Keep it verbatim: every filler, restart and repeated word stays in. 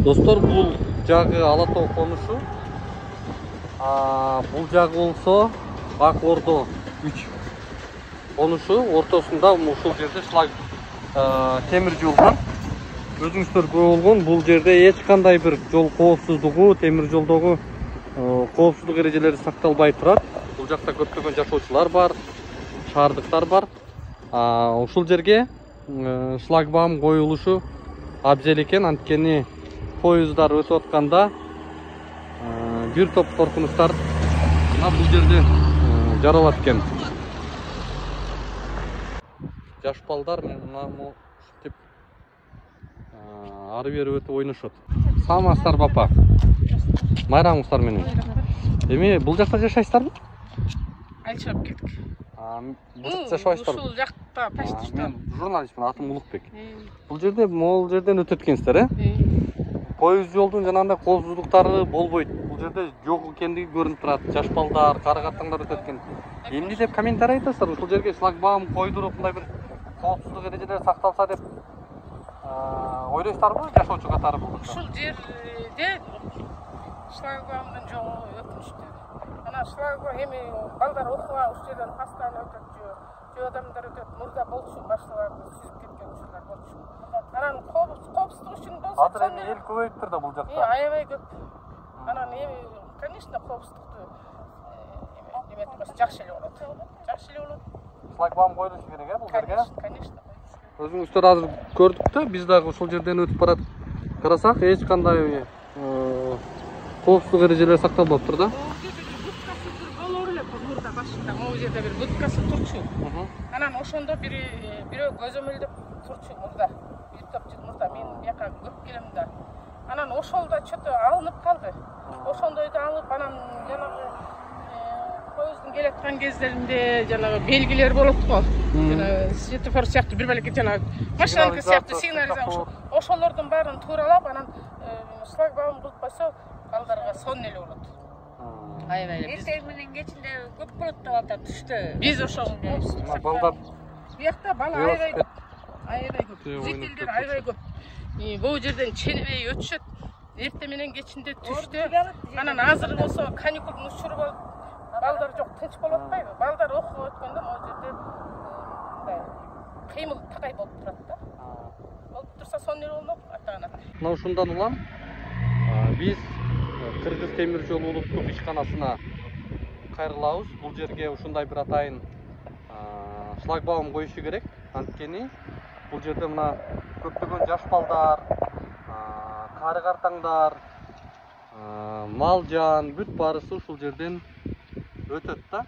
Достор, бул жагы Ала Тоо конушу. Бул жагы болсо Ак Ордо үч конушу. Ортосунда ушул жерде шлаг темир жол бар. Өзүңүздөр көрүп болгон, бул жерде эч кандай бир жол коопсуздугу, темир жолдогу коопсуздук эрежелери сакталбай турат. Бул жакта көптөгөн жашоочулар бар, шаардыктар бар. Ушул жерге шлагбаум коюлушу абзел экен, анткени поездар өтүп атканда бир топ коркунучтар бул жерде жаралат экен. Жаш балдар мына ушинтип ары бери өтүп ойношот. Саламатсыздарбы апа? Майрамыңыздар менен. Эми бул жакта жашайсыздарбы? Алчап кеттик. Бул жакта жашабайсыздарбы? Ушул жакта почти что. Мен журналистмин, атым Улукбек. Бул жерде могул жерден өтөт экенсиздер, э? Поезд жолдун жанагындай коопсуздуктары болбойт. Бул жерде жок экендиги көрүнүп турат. Жаш балдар, кары картаңдар өтөт экен. Эмне деп комментарий айтасыздар? Ушул жерге шлагбаум койдуруп, мындай бир коопсуздук эрежелери сакталса деп ойлойсуздарбы, жашоочу катары бул? Ушул жерде шлагбаумдун жолу өкүнүчтүү. Ана шлагбаум эми балдар окуга ушул жерден постоянно өтөт, жөө адамдар өтөт. Мурда болчу башкаларды сүзүп кеткен учурлар болчу. Анан коопсуздук үчүн болсо, азыр эми эл көбөйүптүр да бул жакта. Аябай көп. Анан эми, конечно, коопсуздукту эметпесе жакшы эле болот. Жакшы эле болот. Шлагбаум коюлушу керек, э, бул жерге? Конечно. Өзүңүздөр азыр көрдүк да, биз дагы ушул жерден өтүп барат. Карасак, эч кандай коопсуздук эрежелери сакталбаптыр да. Болор эле мурда башында, могу жерде бир будкасы турчу. Анан ошондо бири бирөө көзөмөлдөп турчу мурда. Бир топ жыл мурда мен бияка көп келем да. Анан ошол да чөтө алынып калды. Ошондойду алып, анан жанагы поезддин келаткан кездеринде жанагы белгилер болот го. Жана светофор сыяктуу бир балеке жанагы машинаныкы сыяктуу сигнализация. Ошолордун баарын тууралап, анан шлагбаум кылып койсо, балдарга сонун эле болот. Аябай эле. Эртең менен кечинде көп болот да балдар түштө. Биз ошол балдар биякта бала аябай көп. Аябай көп. Зрительдер аябай көп. Бул жерден ченебей өтүшөт. Эртең менен кечинде түштө. Анан азыр болсо каникулдун учуру болуп, балдар жок, тынч болуп атпайбы? Балдар окууга өткөндө могу жерде мындай кыймыл такай болуп турат да. Болуп турса сонун эле болмок ата-ана. Мына ушундан улам биз Кыргыз темир жолу улуттук ишканасына кайрылабыз. Бул жерге ушундай бир атайын шлагбаум коюшу керек. Анткени бул жерде мына көптөгөн жаш балдар, кары картаңдар, мал жан бүт баарысы ушул жерден өтөт да.